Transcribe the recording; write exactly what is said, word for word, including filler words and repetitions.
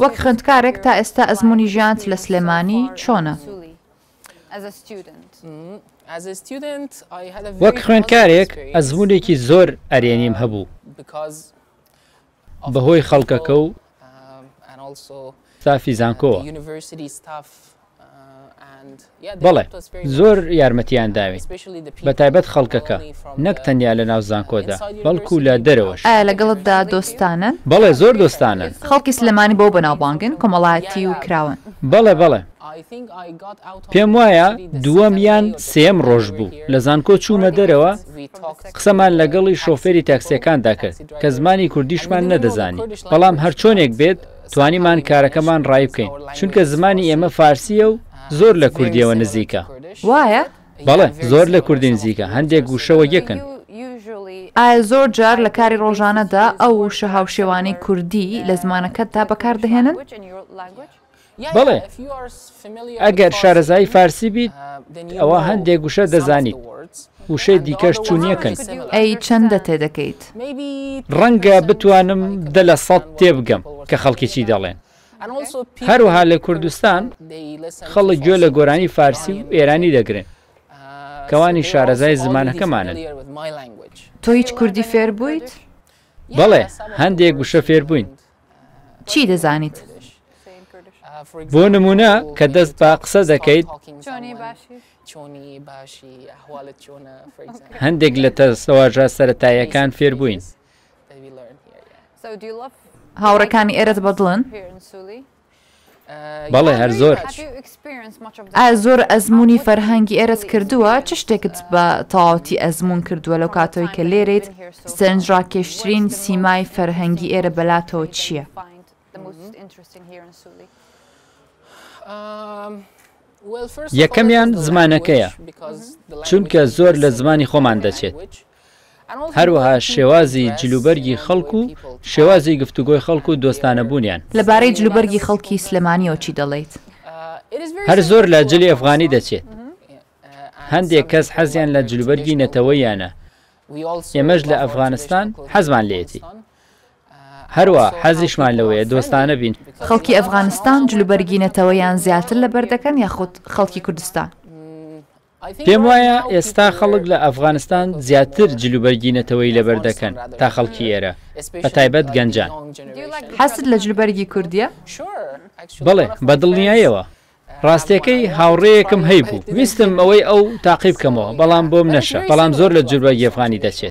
وەک خوێندکارێک تا ئێستا ئەزموونی ژیانت لە سلێمانی چۆنە؟ وەک خوێندکارێک ئەزموونێکی زۆر ئەرێنیم هەبوو بەهۆی خەڵکەکە و ستافی زانکۆوە. بەڵێ، زۆر یارمەتیان داوین، بەتایبەت خەڵکەکە، نەک تەنیا لە ناو زانکۆدا، بەڵکو لە دەرەوەش. ئایا لەگەڵتدا دۆستانەن؟ بەڵێ، زۆر دۆستانەن. خەڵکی سلێمانی بەوە بەناوبانگن کۆمەڵایەتی و کراوەن. بەڵێ، بەڵێ. پێم وایە دووەم یان سێیەم ڕۆژ بوو لە زانکۆ چوومە دەرەوە، قسەمان لەگەڵی شۆفێری تاکسیەکاندا کرد کە زمانی کوردیشمان نەدەزانی، بەڵام هەرچۆنێک بێت توانیمان کارەکەمان ڕایی بکەین، چونکە زمانی ئێمە فارسییە و زۆر لە کوردیەوە نزیکە. وایە؟ بەڵێ، زۆر لە کوردی نزیکە، هەندێک وشە وەک یەکن. ئایا زۆر جار لە کاری ڕۆژانەدا ئەو وشە هاوشێوانەی کوردی لە زمانەکەتدا بەکاردەهێنن؟ بەڵێ، ئەگەر شارەزای فارسی بیت ئەوە هەندێک وشە دەزانیت، وشەی دیکەش چون یەکن. ئەی چەندە تێدەگەیت؟ ڕەنگە بتوانم دە لە سەد تێبگەم کە خەڵکی چی دەڵێن. هەروەها لە کوردستان خەڵک گوێ لە گۆرانی فارسی و ئێرانی دەگرن کەوانی شارەزای زمانەکەمانن. تۆ هیچ کوردی فێر بوویت؟ بەڵێ، هەندێک وشە فێر بووین. چی دەزانیت؟ بۆ نمونە کە دەست بە قسە دەکەیت هەندێک لە دەستەواژە سەرەتاییەکان فێر بووین. هاوڕێکانی ئێرەت بەدڵن؟ بەڵێ، هەر زۆر. ئایا زۆر ئەزموونی فەرهەنگی ئێرەت کردووە؟ چ شتێکت بە تەواوەتی ئەزموون کردووە لەو کاتەوەی کە لێرەیت؟ سەرنجڕاکێشترین سیمای فەرهەنگی ئێرە بەلاتەوە چییە؟ یەکەمیان زمانەکەیە، چونکە زۆر لە زمانی خۆمان دەچێت. هەروەها شێوازی جلوبەرگی خەڵک و شێوازی گفتوگۆی خەڵک و دۆستانەبوونیان. لەبارەی جلوبەرگی خەڵکی سلێمانیەوە چی دەڵێیت؟ هەر زۆر لە جلی ئەفغانی دەچێت. هەندێک کەس حەزیان لە جلوبەرگی نەتەوەیانە، ئێمەش لە ئەفغانستان حەزمان لێیەتی. هەروە حەزیشمان لەوەیە دۆستانە بین. خەڵکی ئەفغانستان جلوبەرگی نەتەوەیان زیاتر لەبەر دەکەن یاخود خەڵکی کوردستان؟ پێم وایە ئێستا خەڵک لە ئەفغانستان زیاتر جلوبەرگی نەتەوەیی لەبەر دەکەن تا خەڵکی ئێرە، بەتایبەت گەنجان. حەزت لە جلوبەرگی کوردییە؟ بەڵێ، بە دڵنیاییەوە. ڕاستیەکەی هاوڕێیەکم هەیبوو، ویستم ئەوەی ئەو تاقی بکەمەوە، بەڵام بۆم نەشا، بەڵام زۆر لە جلوبەرگی ئەفغانی دەچێت.